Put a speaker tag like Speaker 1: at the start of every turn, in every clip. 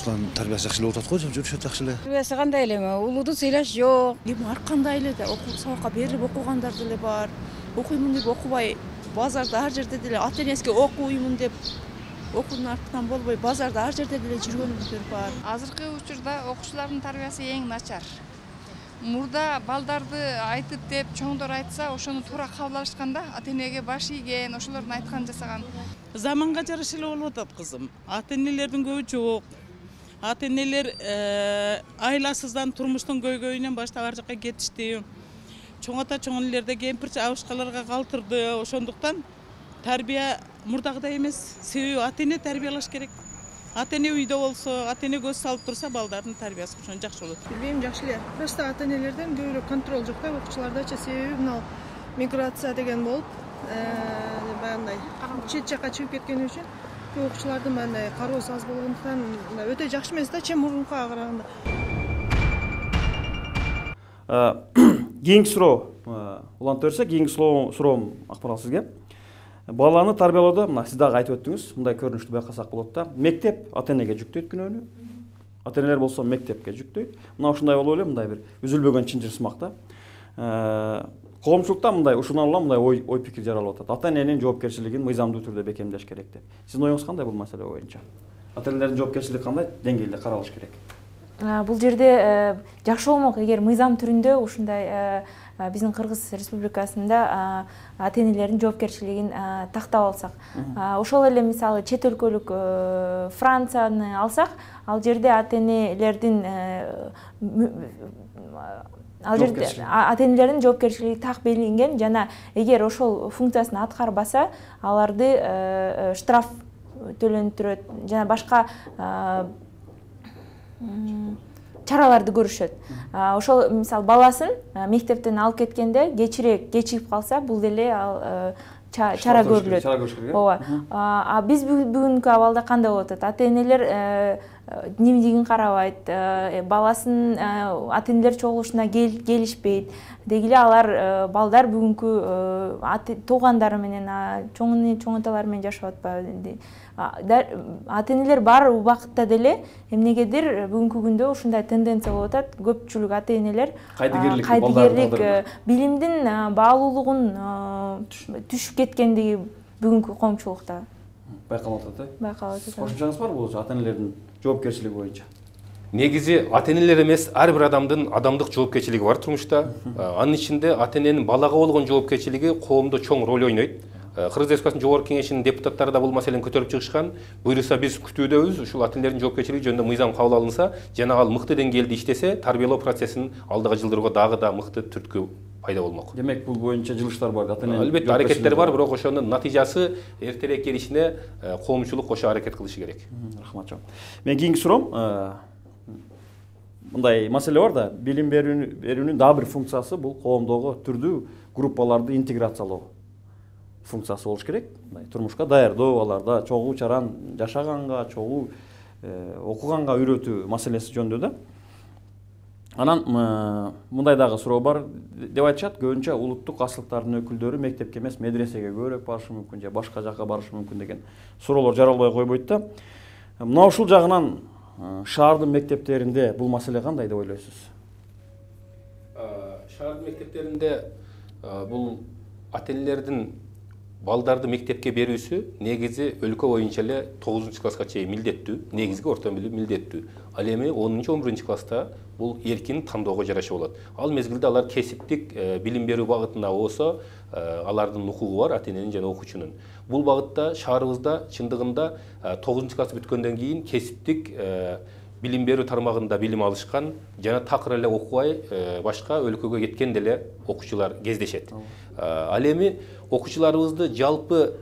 Speaker 1: Ушкан тарбиясы жакшы эле болуп атат го, жүрүшөт жакшы эле.
Speaker 2: Тарбиясы кандай эле, улууду сыйлаш жок.
Speaker 3: Эми ар кандай эле сабакка берип окугандар деле бар. Окуймун деп окубай, базарда ар жерде деле ата энесине окуймун деп окуунун артынан болбой, базарда ар жерде деле жүргөндөр бар.
Speaker 4: Азыркы учурда окуучулардын тарбиясы эң начар. Мурда балдарды айтып деп чоңдор айтса, ошону туура кабыл алышканда, ата энеге баш ийген, ошолордун айтканын жасаган.
Speaker 5: Заманга жараша эле болуп атат кызым. Ата энелердин көбү жок. Ата энелер айласыздан, турмуштун көйгөйүнөн баштап ар жакка кетишти. Чоң ата чоң энелерде кемпир абышкаларга калтырды. Ошондуктан тарбия мурдагыдай эмес. Себеби ата эне тарбиялаш керек. Ата эне үйдө болсо, ата эне көз салып турса, балдардын тарбиясы ошон жакшы болот.
Speaker 3: Билбейм, жакшы эле. Просто ата энелерден көбүрөөк контроль жок да окуучулардачы. Себеби мына миграция деген болуп, баягындай чет жакка чыгып кеткени үчүн окуучулардын мындай кароосу аз болгондуктан өтө жакшы эмес да, чем мурункуга караганда.
Speaker 6: Кийинки суроо улантып берсек, кийинки суроом Акмарал сизге. Баланы тарбиялоодо мына сиз дагы айтып өттүңүз, мындай көрүнүштү байкасак болот да. Мектеп ата энеге жүктөйт күнөөнү. Ата энелер болсо мектепке жүктөйт. Мына ушундай болуп эле мындай бир үзүлбөгөн чынжыр сымак да. Коомчулукта мындай ушундан улам мындай ой пикир жаралып атат. Ата эненин жоопкерчилигин мыйзамдуу түрдө бекемдеш керек деп. Сиздин оюңуз кандай бул маселе боюнча? Ата энелердин жоопкерчилиги кандай деңгээлде каралыш керек?
Speaker 7: Бул жерде жакшы болмок эгер мыйзам түрүндө ушундай биздин Кыргыз Республикасында ата энелердин жоопкерчилигин тактап алсак. Ошол эле мисалы чет өлкөлүк Францияны алсак, ал жерде ата энелердин жоопкерчилиги так белгиленген жана эгер ошол функциясын аткарбаса, аларды штраф төлөнүп турат жана башка чараларды көрүшөт. Ошол мисалы баласын мектептен алып кеткенде кечигип калса, бул деле чара көрүлөт. Ооба. Биз бүгүнкү абалда кандай болуп атат? Ата энелер дневнигин карабайт, баласын ата энелер чогулушуна келишпейт. Деги эле алар балдар бүгүнкү туугандары менен, чоң аталары менен жашап атпайбы? Ата энелер бар убакытта деле эмнегедир бүгүнкү күндө ушундай тенденция болуп атат. Көпчүлүк ата энелер кайдыгерлик, билимдин баалуулугун түшүп кеткендиги бүгүнкү коомчулукта
Speaker 6: байкалып атат.
Speaker 7: Байкалып атат.
Speaker 6: Кошумчаңыз барбы бул ата энелердин жоопкерчилиги боюнча?
Speaker 8: Негизи ата энелер эмес, ар бир адамдын адамдык жоопкерчилиги бар турмушта. Анын ичинде ата эненин балага болгон жоопкерчилиги коомдо чоң роль ойнойт. Кыргыз Республикасынын жогорку кеңешинин депутаттары да бул маселени көтөрүп чыгышкан. Буюрса биз күтүүдөбүз, ушул ата энелердин жоопкерчилиги жөнүндө мыйзам кабыл алынса, жана ал мыкты деңгээлде иштесе, тарбиялоо процессин алдыга жылдырууга дагы да мыкты түрткү пайда болмок.
Speaker 6: Демек, бул боюнча жылыштар бар, ата энелер.
Speaker 8: Албетте аракеттер бар, бирок ошонун натыйжасы эртерээк келишине коомчулук кошо аракет кылышы керек.
Speaker 6: Рахмат жок. Мен кийинки суроом, мындай маселе бар да, билим берүүнүн дагы бир функциясы бул коомдогу түрдүү группаларды интеграциялоо функциясы болуш керек. Турмушка даярдоо, аларда чогуу чаран жашаганга, чогуу окуганга үйрөтүү маселеси жөнүндө да. Анан мындай дагы суроо бар деп айтышат, көбүнчө улуттук аслыктардын өкүлдөрү мектепке эмес, медресеге көбүрөөк барышы мүмкүн же башка жакка барышы мүмкүн деген суроолор жаралбай койбойт да. Мына ушул жагынан шаардын мектептеринде бул маселе кандай деп ойлойсуз?
Speaker 8: Шаардын мектептеринде бул ата энелердин балдарды мектепке берүүсү негизи өлкө боюнча эле 9-класска чейин милдеттүү, негизги орто билим милдеттүү. Ал эми 10-11 класста бул эркин тандоого жараша болот. Ал мезгилде алар кесиптик билим берүү багытында болсо, алардын укугу бар, ата эненин жана окуучунун. Бул багытта шаарыбызда чындыгында 9-класс бүткөндөн кийин кесиптик билим берүү тармагында билим алышкан жана такыр эле окубай башка өлкөгө кеткен деле окуучулар кездешет. Ал эми окуучуларыбызды жалпы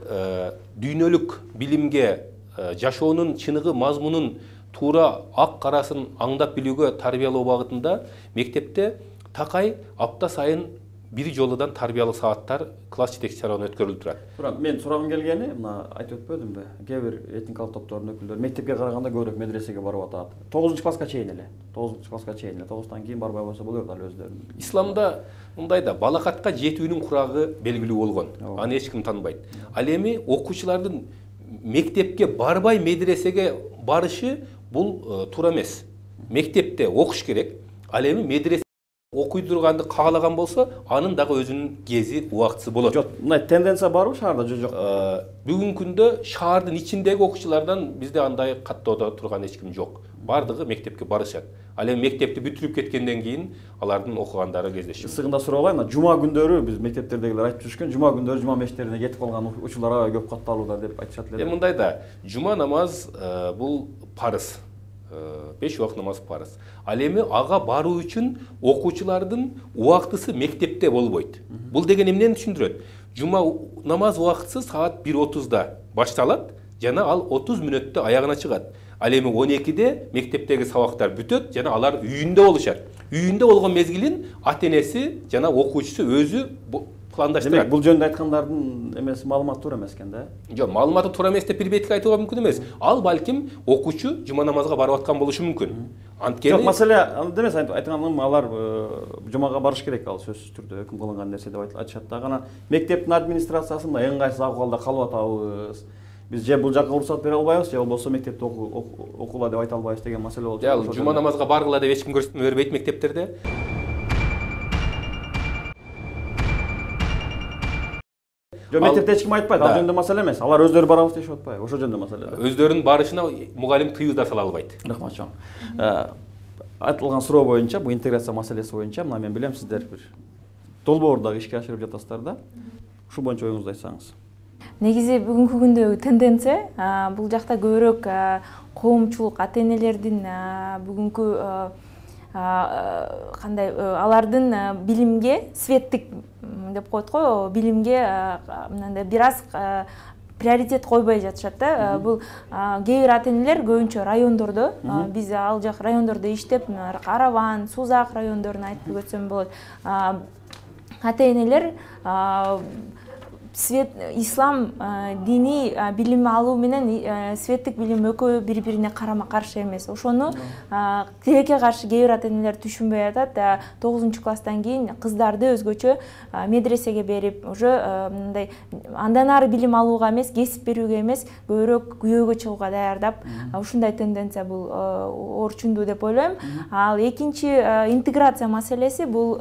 Speaker 8: дүйнөлүк билимге жашоонун чыныгы мазмунун туура ак карасын аңдап билүүгө тарбиялоо багытында мектепте такай апта сайын бир жолудан тарбиялык сааттар класс жетекчи тарабынан өткөрүлүп турат.
Speaker 6: Бирок мен сурагым келгени, мына айтып өтпөдүмбү? Кээ бир этникалык топтордун өкүлдөрү мектепке караганда көбүрөөк медресеге барып атат. 9-класска чейин эле. 9-тан кийин барбай койсо болот ал өздөрүнүн.
Speaker 8: Исламда мындай да, балакатка жетүүнүн курагы белгилүү болгон. Аны эч ким танбайт. Ал эми окуучулардын мектепке барбай медресеге барышы бул туура эмес. Мектепте окуш керек. Ал эми медресе окуй турганды каалаган болсо, анын дагы өзүнүн кези, убактысы болот.
Speaker 6: Жок, мындай тенденция барбы шаарда же жок?
Speaker 8: Бүгүнкү күндө шаардын ичиндеги окуучулардан бизде андай каттоодо турган эч ким жок. Бардыгы мектепке барышат. Ал эми мектепти бүтүрүп кеткенден кийин алардын окугандары кездешип.
Speaker 6: Сыгында сурап алайын, жума күндөрү биз мектептердегилер айтып жүрүшкөн, жума күндөрү жума мешіттерине кетип калган учурлар аябай көп катталууда деп айтышат эле.
Speaker 8: Мындай да, жума намаз бул парыз. 5 убакыт намаз парыз. Ал эми ага баруу үчүн окуучулардын убактысы мектепте болбойт. Бул деген эмнени түшүндүрөт? Жума намаз убактысы саат 1:30да башталат, жана ал 30 мүнөттө аягына чыгат. Ал эми 12де мектептеги сабактар бүтөт, жана алар үйүндө болушат. Үйүндө болгон мезгилин ата-энеси жана окуучусу өзү пландаштырат.
Speaker 6: Демек, бул жөнүндө айткандардын эмеси маалыматы туура эмес экен да?
Speaker 8: Жок, маалыматы туура эмес деп бир бетке айтууга мүмкүн эмес. Ал балким окуучу жума намазга барып аткан болушу мүмкүн.
Speaker 6: Анткени жок, маселе анда эмес, айтканым алар жумага барыш керек, ал сөзсүз түрдө өкүм кылынган нерсе деп айтышат да. Гана мектептин администрациясында эң кайсы акыбалда калып атабыз. Биз же бул жакка уруксат бере албайбыз, же болбосо мектепте окула деп айта албайбыз деген маселе болчу.
Speaker 8: Жок, жума намазга баргыла деп эч ким көрсөтмө бербейт мектептерде.
Speaker 6: Жок, мектепте эч ким айтпайт, ал жөнүндө маселе эмес. Алар өздөрү барабыз дешип атпайбы? Ошол жөнүндө маселе.
Speaker 8: Өздөрүнүн барышына мугалим тыюу да сала албайт.
Speaker 6: Рахмат чоң. Айтылган суроо боюнча, бул интеграция маселеси боюнча, мына мен билем сиздер бир долбоордагы ишке ашырып жатасыздар да. Ушул боюнча оюңузду айтсаңыз.
Speaker 7: Негизи бүгүнкү күндөгү тенденция бул жакта көбүрөөк коомчулук, ата-энелердин бүгүнкү кандай алардын билимге светтик деп коет го, билимге мындай бир аз приоритет койбой жатышат да. Бул кээ бир ата-энелер көбүнчө райондордо, биз ал жак райондордо иштеп, Караван, Сузак райондорун айтып өтсөм болот. Ата-энелер ислам дини билим алуу менен светтик билим экөө бири-бирине карама-каршы эмес. Ошону тилекке каршы кээ бир ата-энелер түшүнбөй атат. 9-класстан кийин кыздарды өзгөчө медресеге берип, уже мындай андан ары билим алууга эмес, кесип берүүгө эмес, көбүрөөк күйөөгө чыгууга даярдап, ушундай тенденция бул орчундуу деп ойлойм. Ал экинчи интеграция маселеси бул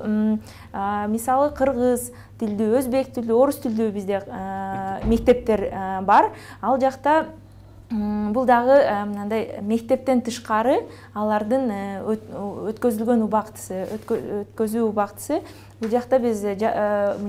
Speaker 7: мисалы кыргыз тилдүү, өзбек тилдүү, орус тилдүү бизде мектептер бар. Ал жакта бул дагы мындай мектептен тышкары алардын өткөзүлгөн убактысы, өткөзүү убактысы. Бул жакта биз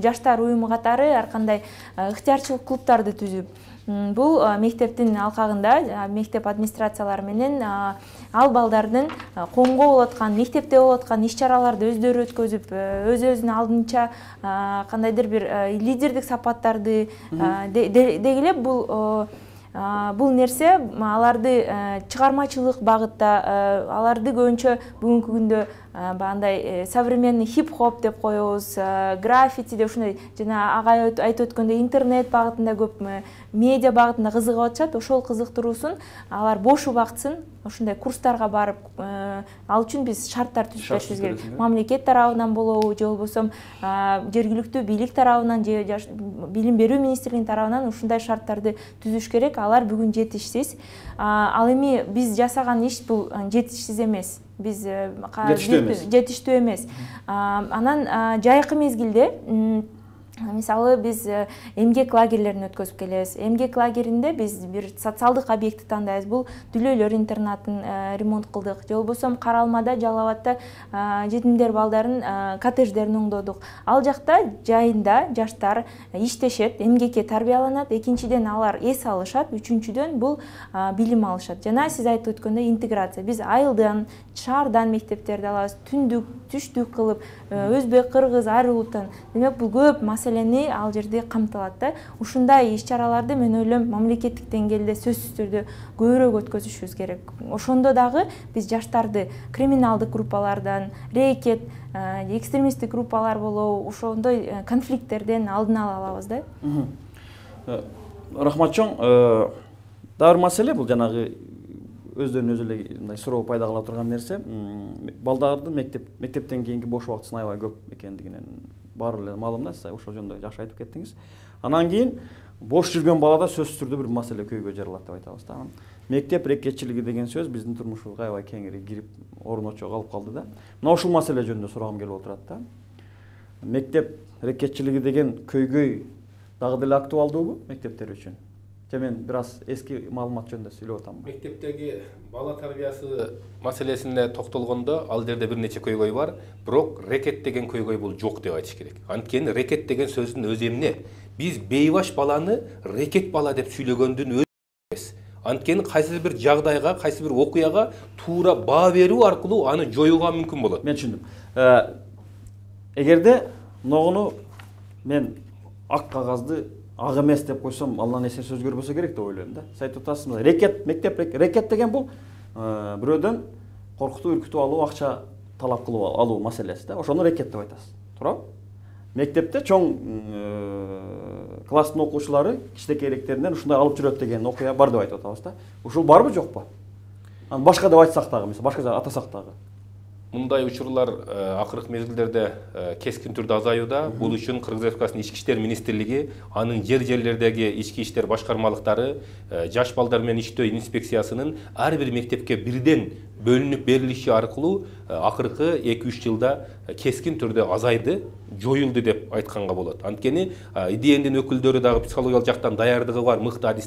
Speaker 7: жаштар уюму катары ар кандай ыктыярчылык клубдарды түзүп, бул мектептин алкагында мектеп администрациялары менен ал балдардын коомго болуп аткан, мектепте болуп аткан иш-чараларды өздөрү өткөзүп, өз-өзүнүн алдынча кандайдыр бир лидердик сапаттарды дегиле бул нерсе аларды чыгармачылык багытта, аларды көбүнчө бүгүнкү күндө бандай современный хип-хоп деп коебуз, граффити деп ушундай жана агай айтып өткөндөй интернет багытында көп, медиа багытында кызыгып атышат. Ошол кызыктыруусун алар бош убактысын ушундай курстарга барып, ал үчүн биз шарттар түзүп беришибиз керек. Мамлекет тарабынан болобу, же болбосо жергиликтүү бийлик тарабынан, же билим берүү министрлигинин тарабынан ушундай шарттарды түзүш керек. Алар бүгүн жетишсиз. Ал эми биз жасаган иш бул жетишсиз эмес. Биз жетиштүү эмес. Анан жайкы мезгилде мисалы биз эмгек лагерлерин өткөзүп келебиз. Эмгек лагеринде биз бир социалдык объектти тандайбыз. Бул дүлөйлөр интернатын ремонт кылдык. Же болбосо Каралмада, Жалал Абадта жетимдер балдарын коттедждерин оңдодук. Ал жакта жайында жаштар иштешет, эмгекке тарбияланат. Экинчиден алар эс алышат, үчүнчүдөн бул билим алышат. Жана сиз айтып өткөндөй интеграция. Биз айылдан, шаардан мектептерди алабыз, түндүк, түштүк кылып, өзбек, кыргыз, ар улуттан. Демек бул көп маселени ал жерде камтылат да. Ушундай иш-чараларды мен ойлойм мамлекеттик деңгээлде сөзсүз түрдө көбүрөөк өткөзүшүбүз керек. Ошондо дагы биз жаштарды криминалдык группалардан, рэкет, экстремисттик группалар болобу, ошондой конфликттерден алдын ала алабыз да.
Speaker 6: Рахмат чоң. Дагы маселе бул жанагы өздөрүнүн өзү эле мындай суроо пайда кыла турган нерсе, балдардын мектептен кийинки бош убактысынын аябай көп экендигинен баары эле маалым да, сиз ошол жөнүндө жакшы айтып кеттиңиз. Анан кийин бош жүргөн балада сөзсүз түрдө бир маселе көйгөй жаралат деп айтабыз да. Мектеп рекетчилиги деген сөз биздин турмушубузга аябай кеңири кирип орночо калып калды да. Мына ушул маселе жөнүндө сурагым келип отурат да. Мектеп рекетчилиги деген көйгөй дагы деле актуалдуубу мектептер үчүн? Же мен бир аз эски маалымат жөнүндө сүйлөп атам.
Speaker 8: Мектептеги бала тарбиясы маселесине токтолгондо ал жерде бир нече көйгөй бар, бирок рекет деген көйгөй бул жок деп айтыш керек. Анткени рекет деген сөздүн өзү эмне? Биз бейбаш баланы рекет бала деп сүйлөгөндүн өзү эмес. Анткени кайсы бир жагдайга, кайсы бир окуяга туура баа берүү аркылуу аны жоюуга мүмкүн болот.
Speaker 6: Мен түшүндүм. Эгерде ногуну мен ак кагазды ак эмес деп койсом, Алланын эсеси өзгөрбөсө керек деп ойлойм да. Сиз айтып атасыз, рекет, мектеп рекет деген бул бирөөдөн коркутуп, үркүтүп алуу, акча талап кылып алуу маселеси да. Ошону рекет деп айтасыз. Туурабы? Мектепте чоң класстын окуучулары кичинекейлектеринен ушундай алып жүрөт деген окуя бар деп айтып атабыз да. Ушул барбы жокпу? Аны башка деп айтсак дагы, мисалы башка жагы атасак дагы.
Speaker 8: Мындай учурлар акыркы мезгилдерде кескин түрдө азаюуда. Бул үчүн Кыргыз Республикасынын Ички иштер министрлиги, анын жерлердеги ички иштер башкармалыктары, жаш балдар менен иштөө инспекциясынын ар бир мектепке бирден бөлүнүп берилиши аркылуу акыркы 2-3 жылда кескин түрдө азайды, жоюлду деп айтканга болот. Анткени ИДНдин өкүлдөрү дагы психологиялык жактан даярдыгы бар, мыкты адис